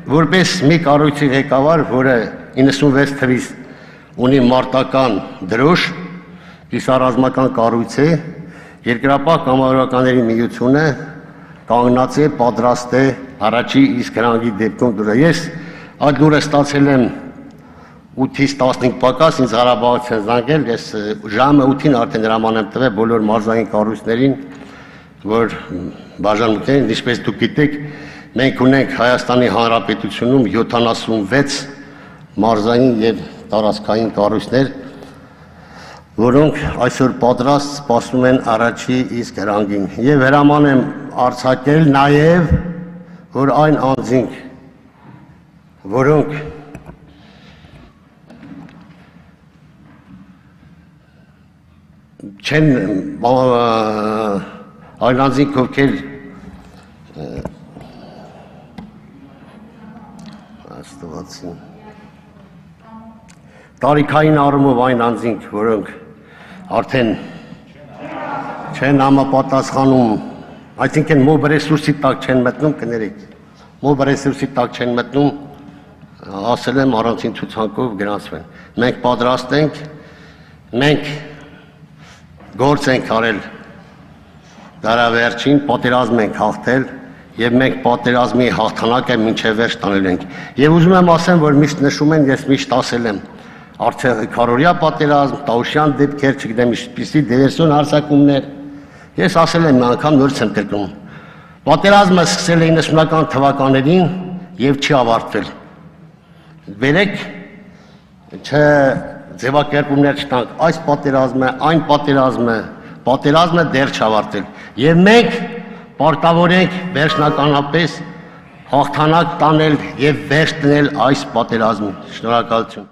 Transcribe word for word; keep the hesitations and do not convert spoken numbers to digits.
որպես մի կառույցի ղեկավար, որը իննսունվեց թվից ունի մարտական դրոշ, կիսառազմական կառույց է, Երկրապահ կամավորականների միությունը կանգնած է, պատրաստ է առաջի իսկ հրանգի դեպքում դուրը։ Ես այդ լուրը ստացել եմ ութից տասնհինգ պակաս, ինձ Ղարաբաղից են զանգել, ես ժամը ութին արդեն հրաման եմ տվել բոլոր մարզային կառույցներին, որ բաժանմունքներին, ինչպես դուք գիտեք, մենք ունենք Հայաստանի Հանրապետությունում յոթանասունվեց մարզային եւ տարածքային կառույցներ, որոնք այսօր պատրաստ սպասում են առաջի իսկ հրանգին եւ հրաման եմ արձակել նաեւ, որ այն անձինք, որոնք չեն այն անձինք, ովքեր աստվածին տարիքային առումով այն անձինք, որոնք արդեն չեն համապատասխանում, այսինքն մոբ ռեսուրսի տակ չեն մտնում, կներեք, մոբ ռեսուրսի տակ չեն մտնում, ասել եմ առանցին ցուցակով գրանցվեն։ Մենք պատրաստ ենք, մենք գործ ենք արել դարավերջին, պատերազմ ենք հաղթել եւ մենք պատերազմի հաղթանակը մինչեւ վերջ տանել ենք։ Եվ ուզում եմ ասեմ, որ միշտ նշում են, ես միշտ ասել եմ, արդեն քարորիա պատերազմ, Տաուշյան դեպքեր, չգիտեմ ինչպիսի դիվերսիոն հարձակումներ, ես ասել եմ մի անգամ նորից եմ կրկնում։ Պատերազմը սկսել է իննսունական թվականներին եւ չի ավարտվել։ Վերեք չէ ձևակերպումներ չտանք, այս պատերազմը, այն պատերազմը, պատերազմը դեռ չավարտել։ Եվ մենք պարտավոր ենք վերջնականապես հաղթանակ տանել եւ վերջ դնել այս պատերազմին։ Շնորհակալություն։